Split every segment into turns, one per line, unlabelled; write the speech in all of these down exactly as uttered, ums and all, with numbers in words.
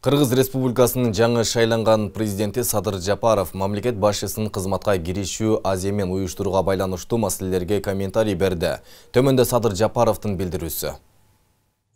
Кыргыз Республикасынын жаңы шайланган президенти Садыр Жапаров мамлекет башчысынын кызматка киришүү аземин уюштурууга байланыштуу маселелерге комментарий берди. Төмөндө Садыр Жапаровдун билдирүүсү.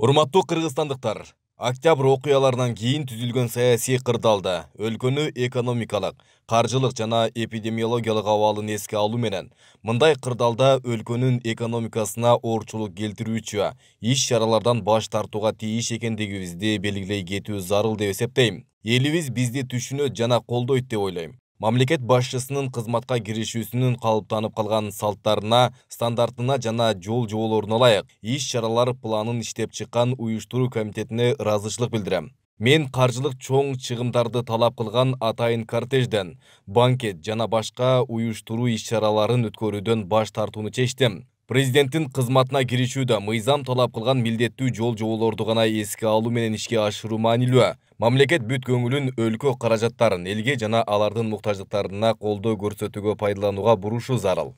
Урматтуу кыргызстандыктар, октябрь окуяларынан кийин түзүлгөн саясий кырдаалда өлкөнү экономикалык, каржылык жана эпидемиологиялык абалын эске алуу менен мындай кырдаалда өлкөнүн экономикасына оорчулук келтирүүчү иш-чаралардан баш тартууга тийиш экендигибизди белгилей кетүү зарыл деп эсептейм. Элибиз бизди түшүнөт жана колдойт деп ойлойм. Мамлекет башчысынын кызматка киришүүсүнүн калыптанып калган салттарына, стандартына жана жол жоболоруна ылайык иш-чаралар планын иштеп чыккан уюштуруу комитетине ыраазычылык билдирем. Мен каржылык чоң чыгымдарды талап кылган атайын кортежден, банкет жана башка уюштуруу иш-чараларын өткөрүүдөн баш тартууну чечтим. Президенттин кызматына киришүүдө мыйзам талап кылган милдеттүү жол жоболорду гана эске алуу менен ишке ашыруу маанилүү. Мамлекет бүт көңүлүн өлкө каражаттарын элге жана алардын муктаждыктарына колдоо көрсөтүүгө пайдаланууга бурушу зарыл.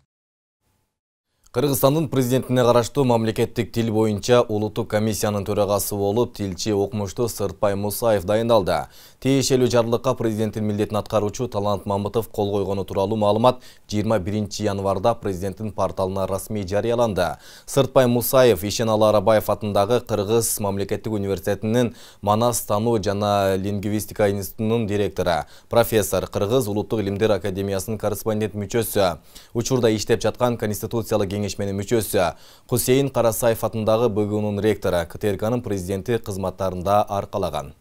Кыргызстандын президентине караштуу мамлекеттик тил боюнча улуттук комиссиянын төрагасы болуп тилчи окумуштуу Сыртбай Мусаев дайындалды. Тиешелүү жарлыкка президенттин милдетин аткаруучу Талант Мамытов кол койгону тууралуу маалымат жыйырма биринчи январда президенттин порталына расмий жарыяланды. Сыртбай Мусаев Ишеналы Арабаев атындагы Кыргыз мамлекеттик университетинин Манас тануу жана лингвистика институтунун директору, профессор, Кыргыз улуттук илимдер академиясынын корреспондент мүчөсү, учурда иштеп жаткан конституциялык кеңешменин мүчөсү, Хусейин Карасаев атындагы Б Г Унун ректору, К Т Р Кнын президенти кызматтарында аркалаган.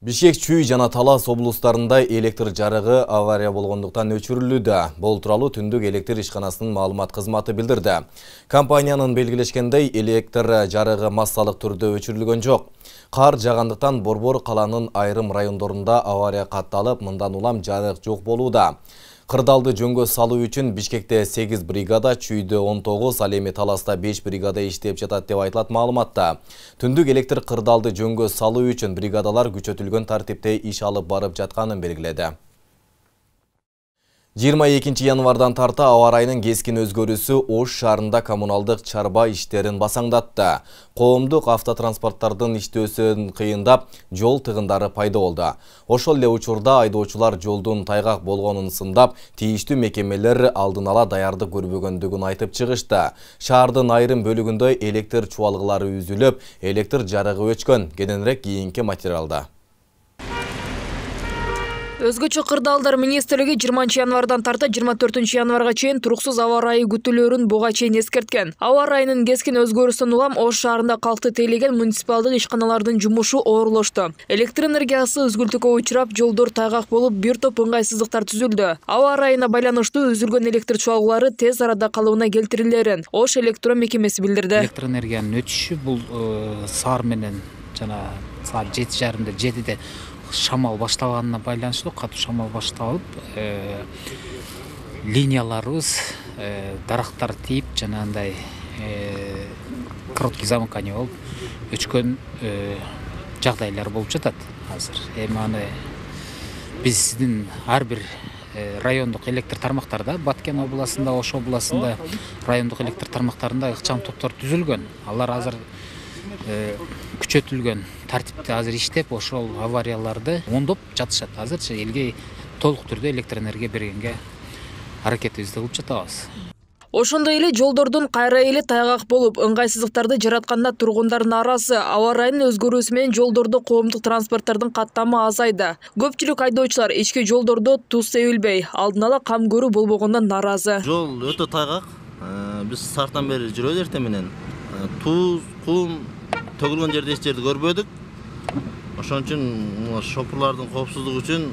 Бишкек, Чүй жана Талас облустарында электр жарыгы авария болгондуктан өчүрүлүүдө. Бул тууралуу Түндүк электр ишканасынын маалымат кызматы билдирди. Компаниянын белгилешкендей, электр жарыгы массалык түрдө өчүрүлгөн жок. Кар жагандыктан Борбор каланын айрым райондорунда авария катталып, мындан улам жарык жок болууда. Кырдаалды жөнгө салуу үчүн Бишкекте сегиз бригада, Чүйдө он тогуз, ал эми Таласта беш бригада иштеп жатат деп айтылат маалыматта. Түндүк электр кырдаалды жөнгө салуу үчүн бригадалар күчөтүлгөн тартипте иш алып барып жатканын белгиледи. жыйырма экинчи январдан тарта аба ырайынын кескин өзгөрүүсү Ош шаарында коммуналдык чарба иштерин басаңдатты. Коомдук автотранспорттардын иштөөсүн кыйындап, жол тыгындары пайда болду. Ошол эле учурда айдоочулар жолдун тайгак болгонун сындап, тийиштүү мекемелер алдын ала даярдык көрбөгөндүгүн айтып чыгышты. Шаардын айрым бөлүгүндө электр чубалгылары үзүлүп, электр жарыгы өчкөн. Кененирээк кийинки материалда.
Өзгөчө кырдаалдар министрлиги жыйырманчы январдан тарта жыйырма төртүнчү январга чейин туруксуз аба ырайы күтүлөрүн буга чейин эскерткен. Аба ырайынын кескин өзгөрүүсүнөн улам Ош шаарында калкты тейлеген муниципалдык ишканалардын жумушу оорлошту. Электр энергиясы үзгүлтүккө учурап, жолдор тайгак болуп, бир топ ыңгайсыздыктар түзүлдү. Аба ырайына байланыштуу үзүлгөн электр чуалгылары тез арада калыбына келтирилерин Ош электро мекемеси билдирди.
Электр энергиянын өтүшү бул саар менен жана саат жети жарымда жетиде шамал башталганына байланыштуу, катуу шамал башталып, э, линияларыбыз э, дарактар тийип, жанагындай э, короткий замыкание болуп өчкөн э, жагдайлар болуп жатат азыр. Эми аны биздин ар бир э, райондук электр тармактарда, Баткен областында, Ош областында райондук электр тармактарында ыкчам топтор түзүлгөн. Алар азыр э, күчөтүлгөн тартипте азыр иштеп, ошол аварияларды оңдоп жатышат. Азырчы элге толук түрдө электр энергия бергенге аракетибизди кылып жатабыз.
Ошондой эле жолдордун кайра эле тайгак болуп, ыңгайсыздыктарды жаратканда тургундар нааразы. Аба ырайынын өзгөрүүсү менен жолдордо коомдук транспорттардын каттамы азайды. Көпчүлүк айдоочулар ички жолдордо туз себилбей, алдын ала кам көрүү болбогондон нааразы.
Жол өтө тайгак. Биз сартан бери жүрөбүз эртең менен. Туз, кум төгүлгөн жерде эч жерди көрбөдүк. Ошон үчүн шопурлардын коопсуздугу үчүн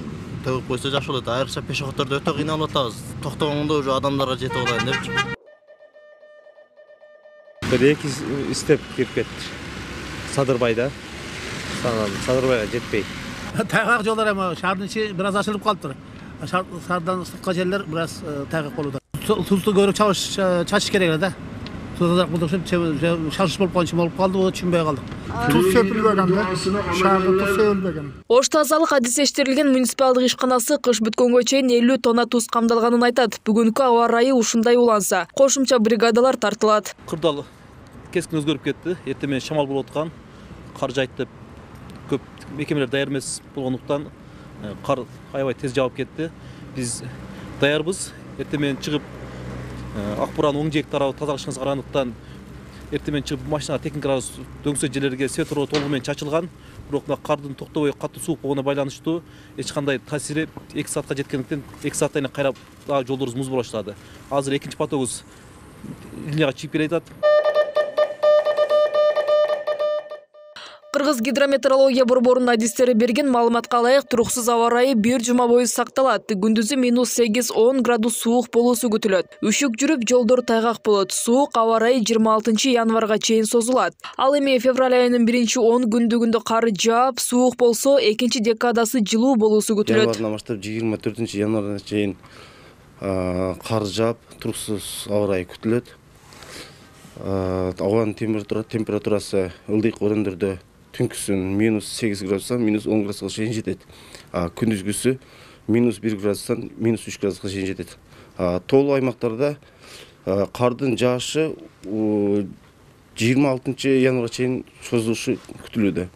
төгүп койсо жакшы болот. Айрыкча пешеходдордо өтө кыйналып атабыз. Токтогондо уже адамдарга жетип алайын депчи.
Бир эки степ кирип кетти. Садырбайда. Садырбайга жетпей.
Тайгак жолдор эми шаардын ичи бир аз ачылып калыптыр. Шаардан сырткы жерлер бир аз тайгак болууда. Тузду көрүп чачыш керек эле да. Тузда булдушуп шашыш болуп калчу болуп калды, о түшүнбөй калдык.
Туз сөпүлбөгөн да, шаарда туз сөпүлбөгөн.
Ош тазалык адистештирилген муниципалдык ишканасы кыш бүткөнгө чейин элүү тонна туз камдалганын айтат. Бүгүнкү аба ырайы ушундай уланса, кошумча бригадалар тартылат.
Кырдаал
keskin өзгөрүп кетти. Эртең менен шамал болуп аткан, кар жайт деп көп мекемелер даяр эмес болгондуктан кар аябай тез жаап кетти. Биз даярбыз. Эртең менен чыгып ак буранын оң жээк тарабы тазалашыбызга карагандыктан эртең менен чыгып машинага техникаларыбыз дөңсө жерлерге светофор толугу менен чачылган. Бирок мына кардын токтобой катуу суук болгонуна байланыштуу эч кандай таасири эки саатка жеткендиктен эки сааттан кийин кайра дагы жолдорубуз муз боло баштады. Азыр экинчи потогубуз линияга чыгып келе жатат.
Кыргыз гидрометеорология борборунун адистери берген маалыматка ылайык туруксуз аба ырайы бир жума бою сакталат. Күндүзү минус сегиз он градус суук болуусу күтүлөт. Үшүк жүрүп жолдор тайгак болот. Суук аба ырайы жыйырма алтынчы январга чейин созулат. Ал эми февраль айынын биринчи он күндүгүндө кар жаап, суук болсо экинчи декадасы жылуу болуусу күтүлөт.
Январдан баштап жыйырма төртүнчү январга чейин кар жаап, туруксуз аба ырайы күтүлөт. Абанын температурасы ылдыйк өрөндөрдө түнкүсүн минус сегиз градустан минус он градуска чейин жетет. Күндүзгүсү минус бир градустан минус үч градуска чейин жетет. Тоолуу аймактарда кардын жаашы жыйырма алтынчы январга чейин созулушу күтүлүүдө.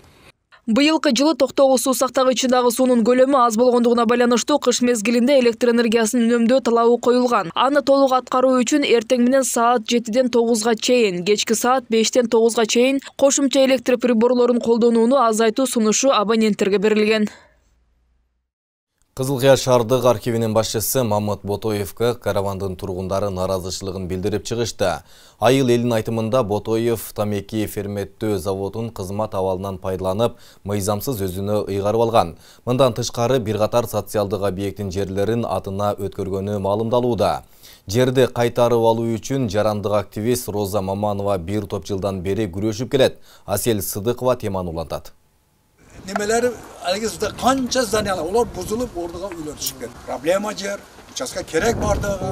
Быйылкы жылы токтогул суу сактагычындагы суунун көлөмү аз болгондугуна байланыштуу кыш мезгилинде электр энергиясын үнөмдөө талабы коюлган. Аны толук аткаруу үчүн эртең менен саат жетиден тогузга чейин, кечки саат бештен тогузга чейин кошумча электр приборлорун колдонууну азайтуу сунушу абоненттерге берилген.
Кызыл Кыя шаардык архивинин башчысы Мамыт Ботоевго каравандын тургундары наразычылыгын билдирип чыгышты. Айыл элинин айтымында Ботоев тамеки ферметтөө заводун кызмат абалынан пайдаланып, мыйзамсыз өзүнө ыйгарып алган. Мындан тышкары бир катар социалдык объекттин жерлерин атына өткөргөнү маалымдалууда. Жерди кайтарып алуу үчүн жарандык активист Роза Маманова бир топ жылдан бери күрөшүп келет. Асель Сыдыкова теманы улантат.
Немелери алгызда канча зданиялар олар бузулуп ордуга үйлөр түшүп кетти. Проблема жер, участка керек бардыгы.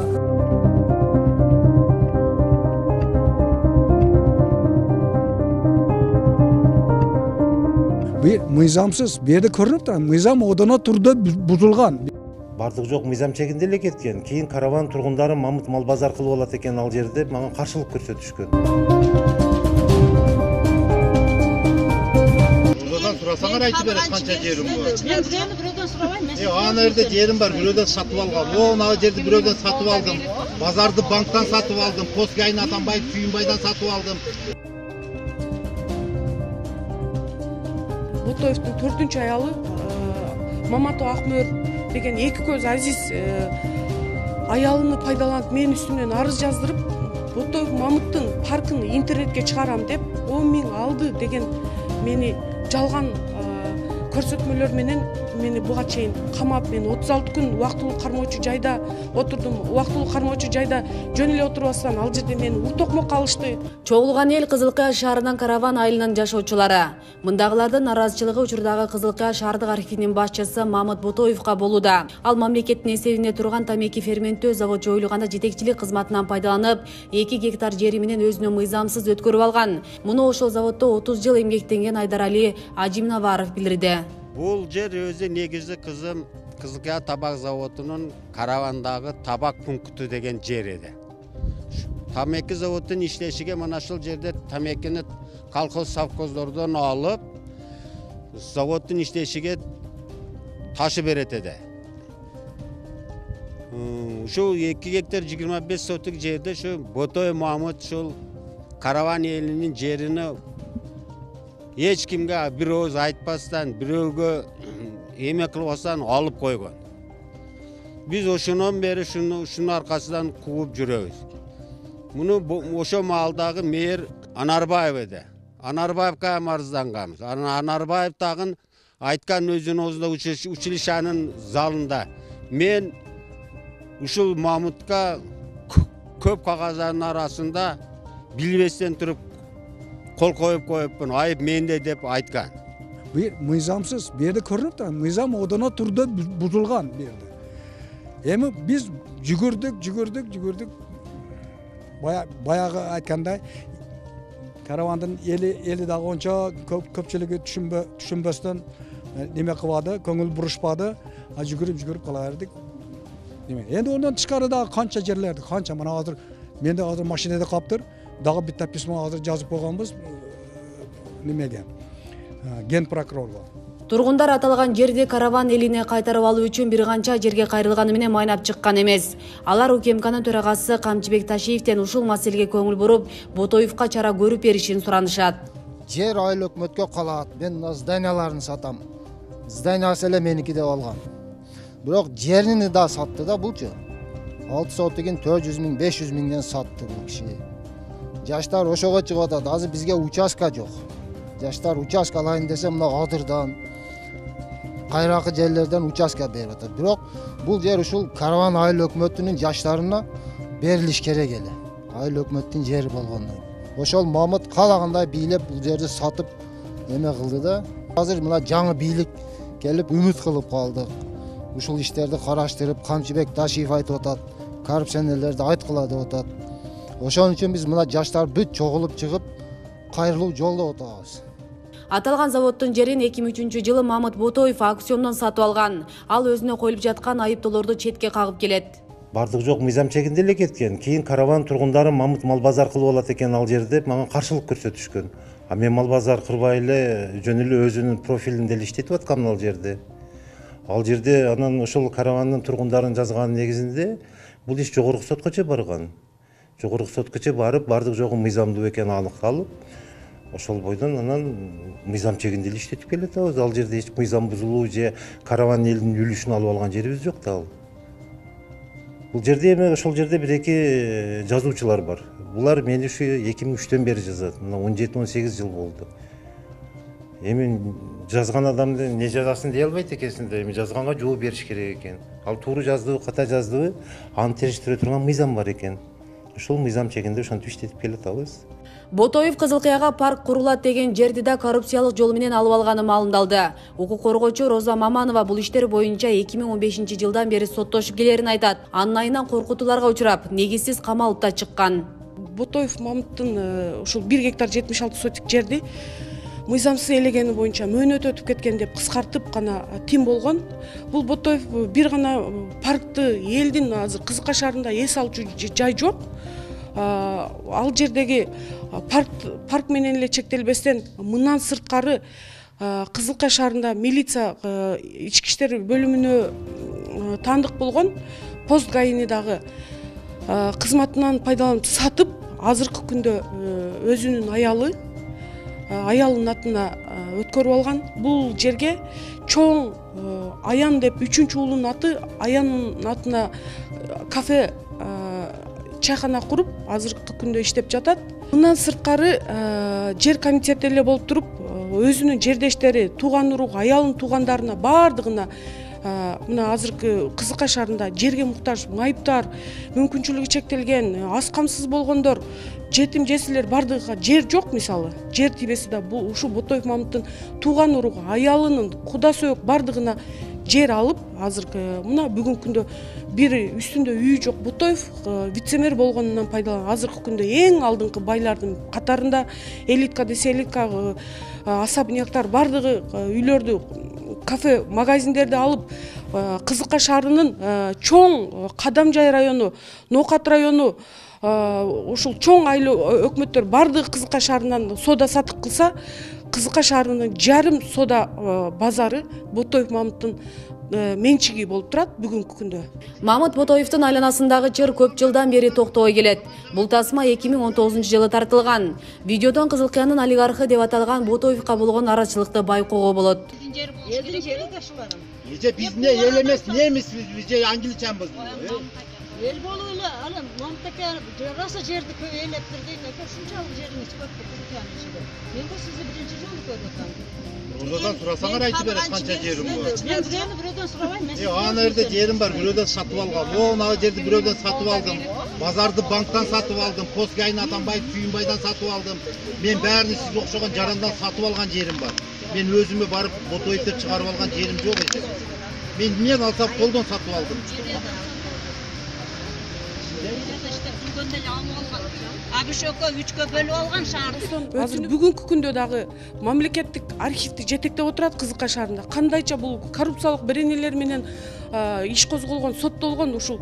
Бир мыйзамсыз, бу жерде көрүнүп турат, мыйзам одоно турду бузулган.
Бардыгы жок мыйзам чегинде эле кеткен. Кийин караван тургундары Мамыт мал базар кылып алат экен ал жерде мага каршылык көрсөтүшкөн.
Сурасаңар айтып берет канча жерим бар. Мен бирөөнү бирөөдөн сурабайм. Э, ана жерде жерим бар, бирөөдөн сатып алгам. Могу жерди бирөөдөн сатып алдым. Базарды банктан сатып алдым. Поскайны Атамбаев Сүйүнбайдан сатып алдым.
Ботоевдун төртүнчү аялы Маматов Акмөр деген эки көз азиз аялыны пайдаланып мен үстүмөн арыз жаздырып, Ботоев Мамыттын паркын интернетке чыгарам деп он миң алды деген мени жалган көрсөтмөлөр менен мени буга чейин камап, мен отуз алты күн убактылуу кармоочу жайда отурдум. Убактылуу кармоочу жайда жөн эле отурбастан ал жерде мени утокмок алышты.
Чогулган эл Кызыл Кыя шаарынын караван айылынын жашоочулары. Мындагылардын наразычылыгы учурдагы Кызыл Кыя шаардык архивинин башчысы Мамыт Ботоевго болууда. Ал мамлекеттин эсебинде турган тамеки ферменттөө завод жоюлганда жетекчилик кызматынан пайдаланып, эки гектар жери менен өзүнө мыйзамсыз өткөрүп алган. Муну ошол заводдо отуз жыл эмгектенген Айдарали Ажимнаваров билдирди.
Бул жер өзү негизи кызым Кызыл Кыя табак заводунун каравандагы табак пункту деген жер эди. Тамеки заводунун иштешиге мына ушул жерде тамекини колхоз совхоздордон алып, заводдун иштешиге ташы берет эди. Ушул эки гектар жыйырма беш сотук жерде ушу Ботоев Мамыт ушул караван элинин жерини эч кимге бир ооз айтпастан, бирөөгө эме кылбастан алып койгон. Биз ошондон бери ушунун аркасынан кууп жүрөбүз. Муну ошо маалдагы мэр Анарбаев эди. Анарбаевга арызданганбыз. Анарбаев дагы айткан өзүнүн оозунда училищанын залында. Мен ушул Мамытка көп кагаздардын арасында билбестен туруп кол коюп коюпмун, айып менде деп айткан.
Бир мыйзамсыз, бу жерде көрүнүп турат, мыйзам одоно турду бузулган бу жерде. Эми биз жүгүрдүк, жүгүрдүк, жүгүрдүк. Баягы айткандай, каравандын эли эли дагы ончо көпчүлүгү түшүнбөстөн неме кылбады, көңүл бурушпады, а жүгүрүп жүгүрүп кала бердик. Эми энди ондон тышкары дагы канча жерлерди, канча мына азыр менде азыр машинада калыптыр. дагы битте письмо азыр жазып койгонбуз немеге, ген прокурорго.
Тургундар аталган жерди караван элине кайтарып алуу үчүн бир канча жерге кайрылганы менен майнап чыккан эмес. Алар УКМКнын төрагасы Камчыбек Ташиевден ушул маселеге көңүл буруп, Ботоевка чара көрүп беришин суранышат.
Жер айыл өкмөткө калат. Мен зданияларын сатам. Зданиясы эле меники деп алган. Бирок жерини да сатты да булчу. алты сотыгин төрт жүз миң, беш жүз миңден сатты бул киши. Жаштар ошого чыгып атат. Азыр бизге участка жок. Жаштар участка алайын десе мына Адырдан, кайракы жерлерден участка берип атат. Бирок бул жер ушул караван айыл өкмөтүнүн жаштарына берилиш керек эле. Айыл өкмөттүн жери болгондон. Ошол Мамыт каалагандай бийлеп бул жерди сатып эме кылды да. Азыр мына жаңы бийлик келип үмүт кылып калдык. Ушул иштерди караштырып, Камчыбек Ташиев айтып атат, коррупционерлерди айткыла деп атат. Ошон үчүн биз мына жаштар бүт чогулуп чыгып, кайрылуу жолдоп атабыз.
Аталган заводдун жерин эки миң үчүнчү жылы Мамыт Ботоев аукциондон сатып алган. Ал өзүнө коюлуп жаткан айыптоолорду четке кагып келет.
Бардык жок мыйзам чегинде эле кеткен. Кийин караван тургундары Мамыт мал базар кылып алат экен ал жерде мага каршылык көрсөтүшкөн. А мен мал базар кырбай эле жөн эле өзүнүн профилинде эле иштетип аткам ал жерде. Ал жерде анан ошол каравандын тургундарын жазган негизинде бул иш жогорку соткочо барган. Жогорку соткочо барып, бардык жогу мыйзамдуу экени аныкталып, ошол бойдон анан мыйзам чегинде эле иштетип келатабыз. Ал жерде эч мыйзам бузулуу же караван элинин үлүшүн алып алган жерибиз жок да ал. Бул жерде эми ошол жерде бир эки жазуучулар бар. Булар мени ушу эки миң үчтөн бери жазат. Мына он жети он сегиз жыл болду. Эми жазган адамды не жазасын дей албайт экенсиң да, эми жазганга жооп бериш керек экен. Ал туура жаздыбы, ката жаздыбы, аны териштире турган мыйзам бар экен. Ошол мыйзам чегинде ошентип иштетип келатабыз.
Ботоев Кызылкыяга парк курулат деген жерди да коррупциялык жол менен алып алганы маалымдалды. Укук коргоочу Роза Маманова бул иштер боюнча эки миң он бешинчи жылдан бери соттошуп келерин айтат. Анын айынан коркутууларга учурап, негизсиз камалып да чыккан.
Ботоев Мамыттын ушул бир гектар жетимиш алты сотик жерди мыйзамсыз ээлегени боюнча мөөнөт өтүп кеткен деп кыскартып гана тим болгон. Бул Ботоев бир гана паркты элдин азыр Кызыкка шаарында эс алчу жай жок. Ал жердеги парк парк менен эле чектелбестен мындан сырткары Кызылка шаарында милиция ички иштер бөлүмүнө таандык болгон пост гаини дагы кызматынан пайдаланып сатып, азыркы күндө өзүнүн аялы аялынын атына өткөрүп алган. Бул жерге чоң Аян деп үчүнчү уулунун аты Аянын атына кафе чайкана куруп, азыркы күндө иштеп жатат. Мындан сырткары жер комитети эле болуп туруп, өзүнүн жердештери, тууган урук, аялынын туугандарына баардыгына мына азыркы Кызыкка шаарында жерге муктаж майыптар, мүмкүнчүлүгү чектелген, аз камсыз болгондор, жетим жесирлер бардыгыга жер жок мисалы. Жер тибеси да бул ушу Ботоев Мамыттын тууган уругу, аялынын, куда сөөк бардыгына жер алып, азыркы мына бүгүнкү күндө бир үстүндө үйү жок Ботоев вице-мэр болгонунан пайдаланып, азыркы күндө эң алдыңкы байлардын катарында элитка десе элитка, особняктар бардыгы үйлөрдү, кафе, магазиндерди алып, Кызыкка шаарынын чоң Кадамжай району, Ноокат району, ушул чоң айыл өкмөттөр бардыгы Кызыкка шаарынан соода сатык кылса, Кызыкка шаарынын жарым соода базары Ботоев Мамыттын менчиги болуп турат бүгүнкү күндө.
Мамыт Ботоевдун айланасындагы чыр көп жылдан бери токтобой келет. Бул тасма эки миң он тогузунчу жылы тартылган. Видеодон Кызылкыянын олигархы деп аталган Ботоевка болгон нараачылыкты байкоого болот.
Эже бизне эл эмес, немисбиз, биз же англичанбыз.
Эл болуу эле, анан Мамытака раса жерди көп ээлептир дейт, ушунчалык жериңиз көп Кызылкыянын ичинде. Мен го сизди биринчи жолу көрүп атам.
Орадан сурасаңар айтып берет канча жерим бар.
Мен бирөөнү бирөөдөн сурабайм.
Э, ана жерде жерим бар, бирөөдөн сатып алгам. Могу жерди бирөөдөн сатып алдым. Базарды банктан сатып алдым, Поскайын Атамбаев Сүйүнбайдан сатып алдым. Мен баарын сиз окшогон жарандан сатып алган жерим бар. Мен өзүмө барып Ботоев деп чыгарып алган жерим жок эже. Мен эмнени алсам колдон сатып алдым.
Абишөкө үчкө бөлүп алган шаарды.
Азыр бүгүнкү күндө дагы мамлекеттик архивди жетектеп отурат Кызыкка шаарында. Кандайча бул коррупциялык беренелер менен иш козголгон, соттолгон ушул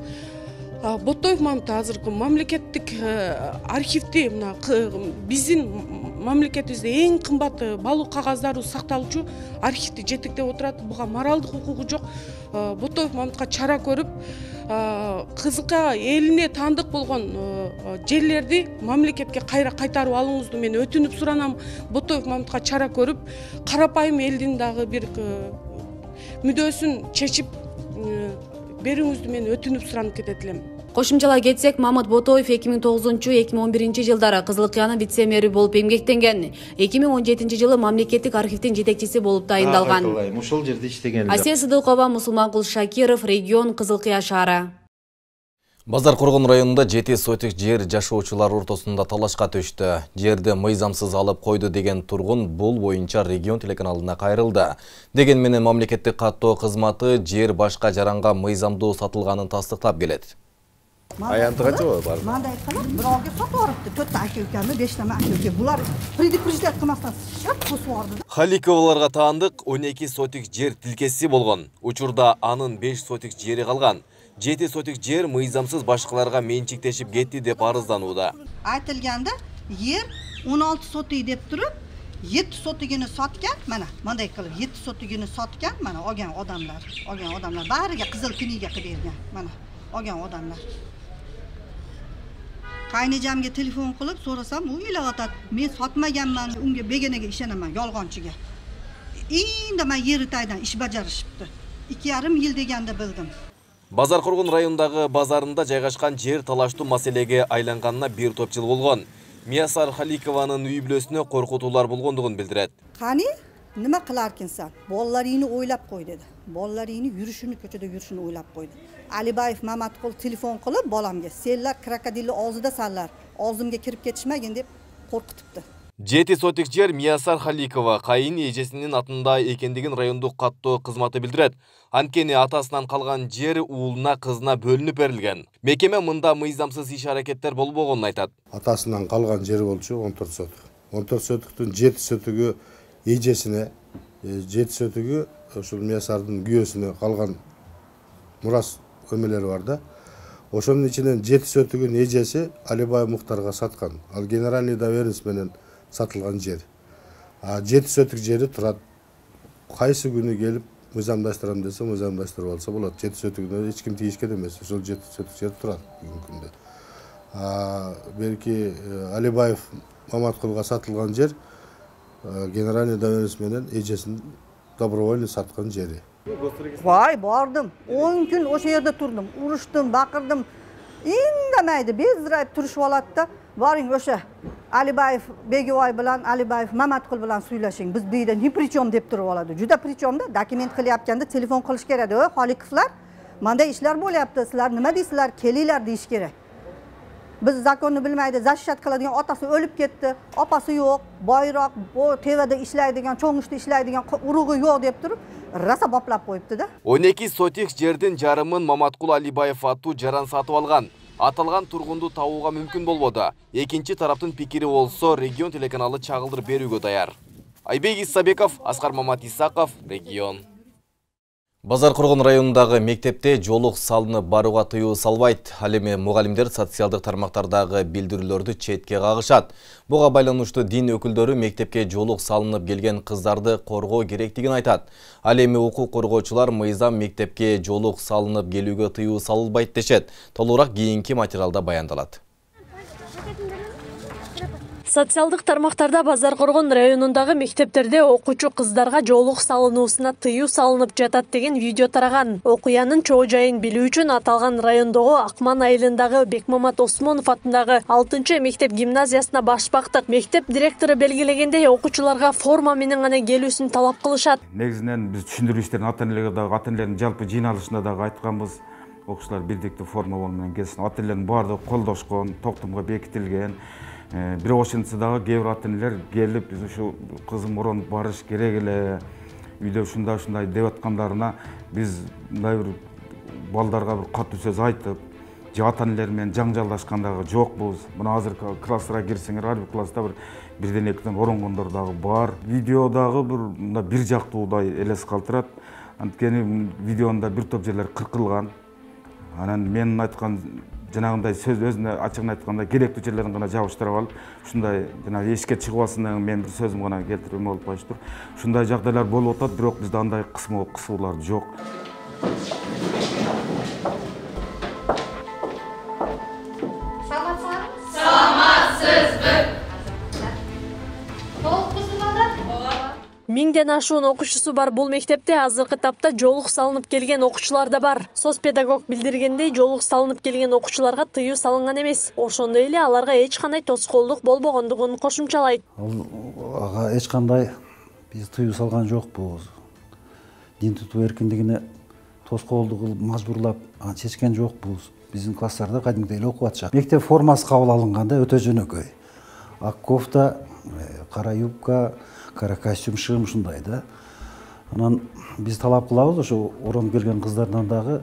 Ботоев Мамыт азыркы мамлекеттик архивде мына биздин мамлекетибизде эң кымбат балуу кагаздары сакталуучу архивди жетектеп отурат. Буга моралдык укугу жок. Ботоев Мамытка чара көрүп, Кызылкая элине таандык болгон жерлерди мамлекетке кайра кайтарып алууңузду мен өтүнүп суранам. Ботоев Мамытка чара көрүп, карапайым элдин дагы бир мүдөөсүн чечип берүүңүздү мен өтүнүп суранып кетет элем.
Кошумчалай кетсек, Мамыт Ботоев эки миң тогузунчу — эки миң он биринчи жылдары Кызылкаянын вице-мэри болуп эмгектенген. эки миң он жетинчи жылы мамлекеттик архивдин жетекчиси болуп тайындалган.
Ушул жерде иштеген.
Асия Сыдыкова, Мусулманкул Шакиров, регион, Кызылкая шаары.
Базар Коргон районунда жети сотик жер жашоочулар ортосунда талашка түштү. Жерди мыйзамсыз алып койду деген тургун бул боюнча регион телеканалына кайрылды. Деген менен мамлекеттик каттоо кызматы жер башка жаранга мыйзамдуу сатылганын тастыктап келет.
Аянтыга жоо бар.
Мындай айткандар, бирөөгө сатып алыпты, төрт aka-ukаны, беш нама aka-uka. Булар предупреждать кылмастан шап косуп алды.
Халиковаларга таандык он эки сотик жер тилкеси болгон. Учурда анын беш сотик жери калган. жети сотик жер мыйзамсыз башкаларга менчиктешип кетти деп арызданууда.
Айтылганда, жер он алты сотик деп туруп, жети сотигini саткан, mana мындай кылып жети сотигini саткан, mana olgan odamlar, olgan odamlar bariga qizil kniga qilib bergan, mana olgan odamlar. Qaynijamga telefon qilib so'rasam, u ilayotadi. Men sotmaganman, unga begonaga ishonaman, yolg'onchiga. Endi men Yeritaydan ish bajarishibdi. ikki yarim yil deganda bildim.
Базар Коргон районундагы базарында жайгашкан жер талаштуу маселеге айланганына бир топ жыл болгон. Миясар Халикованын үй бүлөсүнө коркутуулар болгондугун билдирет.
Кани, nima qilarkinsan? Bolalaringni o'ylab qo'y dedi. Bolalaringni yurishini, ko'chada yurishini o'ylab qo'ydi. Alibayev Mamatqul telefon qilib bolamga, "Senlar krokodilni og'zida sanlar, og'zimga kirib ketishmagin" deb qo'rqitibdi.
жети сотик жер Миясар Халикова кайын эжесинин атында экендигин райондук каттоо кызматы билдирет. Анткени атасынан калган жер уулуна, кызына бөлүнүп берилген. Мекеме мында мыйзамсыз иш-аракеттер болбогонун айтат.
Атасынан калган жери болчу он төрт сотик. он төрт сотиктин жети сотигү эжесине, жети сотигү ошол Миясардын күйөөсүнө калган мурас көмөлөрү бар да. Ошонун ичинен жети сотигин эжеси Алибай Муктарга саткан. Ал генеральный доверенность менен сатылган жер. А жети сотик жери турат. Кайсы күнү келип мыйзамдаштырам десе, мыйзамдаштырып алса болот. жети сотигине эч ким тийишкен эмес. Ошол жети сотик жер турат бүгүнкү күндө. А белки Алибаев Маматкулга сатылган жер генеральный доверенность менен эжесин добровольно саткан жери.
Vay bordim. on kun o'sha yerda turdim, urushdim, baqirdim. Indamaydi, bezrayib turishib oladi-da. Boring o'sha Alibayev Begovoy bilan Alibayev Mamatqul bilan suylashing. Biz bu yerda ni prichom deb turib oladi. Juda prichomda dokument qilyapganda telefon qilish kerak. "Ey, Xolikovlar, menda ishlar bo'lyapti. Sizlar nima deysizlar? Kelinglar" deyish kerak. Biz zakonni bilmaydi, защищать qiladigan otasi o'lib ketdi, opasi yo'q, boyroq, bu tevada ishlaydigan, cho'ng'ishda ishlaydigan urug'i yo'q deb turib, rasa boplab qo'yibdi-da.
он эки сотик жердин жарымын Маматкул Алибаев аттуу жаран сатып алган. Аталган тургунду табууга мүмкүн болбоду. Экинчи тараптын пикири болсо регион телеканалы чагылдырып берүүгө даяр. Айбек Исабеков, Аскар Мамат Исаков, регион. Базар Коргон районундагы мектепте жолук салынып барууга тыюу салбайт. Ал эми мугалимдер социалдык тармактардагы билдирүүлөрдү четке кагышат. Буга байланыштуу дин өкүлдөрү мектепке жолук салынып келген кыздарды коргоо керектигин айтат. Ал эми укук коргоочулар мыйзам мектепке жолук салынып келүүгө тыюу салынбайт дешет. Толугураак кийинки материалда баяндалат.
Социалдык тармактарда Базар Коргон районундагы мектептерде окуучу кыздарга жолук салынуусуна тыюу салынып жатат деген видео тараган. Окуянын чоо жайын билүү үчүн аталган райондогу Акман айылындагы Бекмамат Осмонов атындагы алтынчы мектеп гимназиясына баш бактык. Мектеп директору белгилегендей, окуучуларга форма менен гана келүүсүн талап кылышат.
Негизинен биз түшүндүрүү иштерин ата энелерге дагы, ата энелердин жалпы жыйналышында дагы айтканбыз. Окуучулар бирдиктүү форма менен келсин. Ата энелердин баардыгы колдошкон, токтомго бекитилген. Бирок ошентсе дагы кээ бир ата энелер келип, биз ушу кызым уронуп барыш керек эле, үйдө ушундай ушундай деп аткандарына биз мындай бир балдарга бир катуу сөз айтып, же ата энелер менен жаңжалдашкандагы жокпуз. Мына азыркы класстарга кирсеңер, ар бир класста бир бирден экиден оронгондор дагы бар. Видеодагы бир мына бир жактуудай элес калтырат. Анткени видеонда бир топ жерлер кыркылган. Анан менин айткан жанагындай сөз өзүнө ачыгын айтканда керектүү жерлерин гана жабыштырып алып, ушундай жана эшикке чыгып алсындан мен бир сөзүм гана келтирмек болуп калыштыр. Ушундай жагдайлар болуп атат, бирок бизде андай кысмоо кысуулар жок.
Миңден ашуун окуучусу бар бул мектепте азыркы тапта жолук салынып келген окуучулар да бар. Соц педагог билдиргендей, жолук салынып келген окуучуларга тыюу салынган эмес. Ошондой эле аларга эч кандай тоскоолдук болбогондугун кошумчалайт.
Ага эч кандай биз тыюу салган жокпуз. Дин тутуу эркиндигине тоскоолдук кылып мажбурлап чечкен жокпуз. Биздин класстарда кадимдей эле окуп атышат. Мектеп формасы кабыл алынганда өтө жөнөкөй. Ак кофта, кара юбка, кара костюм, шым ушундай да. Анан биз талап кылабыз ошо ороонуп келген кыздардан дагы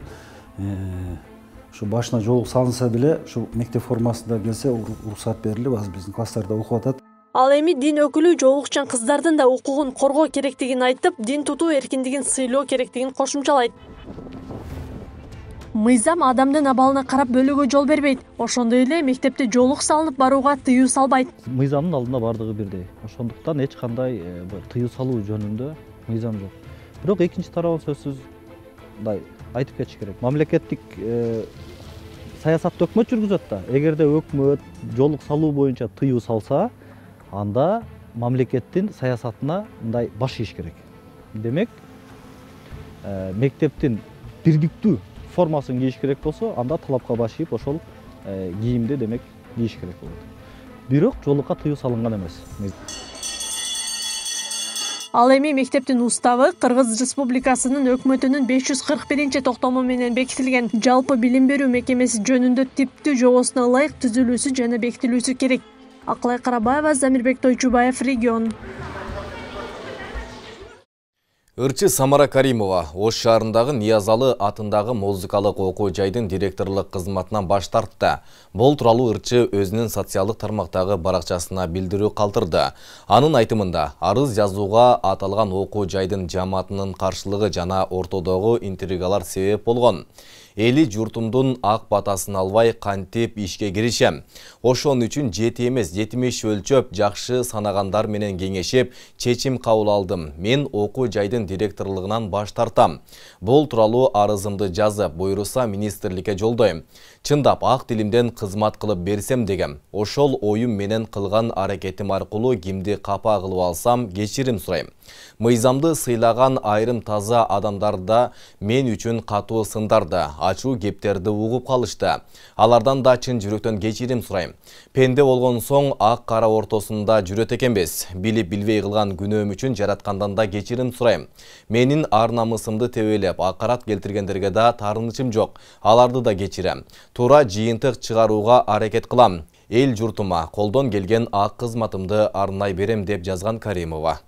ушу башына жолук салынса деле ушу мектеп формасында келсе уруксат берилип, азыр биздин класстарда окуп атат.
Ал эми дин өкүлү жолукчан кыздардын да укугун коргоо керектигин айтып, дин тутуу эркиндигин сыйлоо керектигин кошумчалайт. Мыйзам адамдын абалына карап бөлүүгө жол бербейт. Ошондой эле мектепте жолук салынып барууга тыюу салбайт.
Мыйзамдын алдында бардыгы бирдей. Ошондуктан эч кандай тыюу салуу жөнүндө мыйзам жок. Бирок экинчи тарабын сөзсүз мындай айтып кетиш керек. Мамлекеттик саясатты өкмөт жүргүзөт да. Эгерде өкмөт жолук салуу боюнча тыюу салса, анда мамлекеттин саясатына мындай баш ийиш керек. Демек, мектептин бирдиктүү формасын кийиш керек болсо, анда талапка баш ийип, ошол кийимди демек кийиш керек болот. Бирок жолукка тыюу салынган эмес.
Ал эми мектептин уставы Кыргыз Республикасынын өкмөтүнүн беш жүз кырк биринчи токтому менен бекитилген жалпы билим берүү мекемеси жөнүндө типтүү жобосуна ылайык түзүлүүсү жана бекитилүүсү керек. Акылай Карабаева, Замирбек Тойчубаев, Регион.
Ырчы Самара Каримова Ош шаарындагы Ниязалы атындагы музыкалык окуу жайдын директорлук кызматынан баш тартты. Бул тууралуу ырчы өзүнүн социалдык тармактагы баракчасына билдирүү калтырды. Анын айтымында, арыз жазууга аталган окуу жайдын жамаатынын каршылыгы жана ортодогу интригалар себеп болгон. Эли журтумдун ак батасын албай кантип ишке киришем. Ошон үчүн жети эмес жетимиш өлчөп жакшы санагандар менен кеңешип, чечим кабыл алдым. Мен окуу жайдын директорлугунан баш тартам. Бул тууралуу арызымды жазып, буйруса министрликке жолдойм. Чындап ак тилимден кызмат кылып берсем дегем. Ошол оюм менен кылган аракетим аркылуу кимди капа кылып алсам кечирим сурайм. Мыйзамды сыйлаган айрым таза адамдарда мен үчүн катуу сындарды, ачуу кептерди угуп калышты. Алардан да чын жүрөктөн кечирим сурайм. Пенде болгон соң ак кара ортосунда жүрөт экенбиз. Билип билбей кылган күнөөм үчүн жараткандан да кечирим сурайм. Менин ар намысымды тебелеп, акарат келтиргендерге да таарынычым жок. Аларды да кечирем. Туура жыйынтык чыгарууга аракет кылам. Эл журтума колдон келген ак кызматымды арнай берем деп жазган Каримова.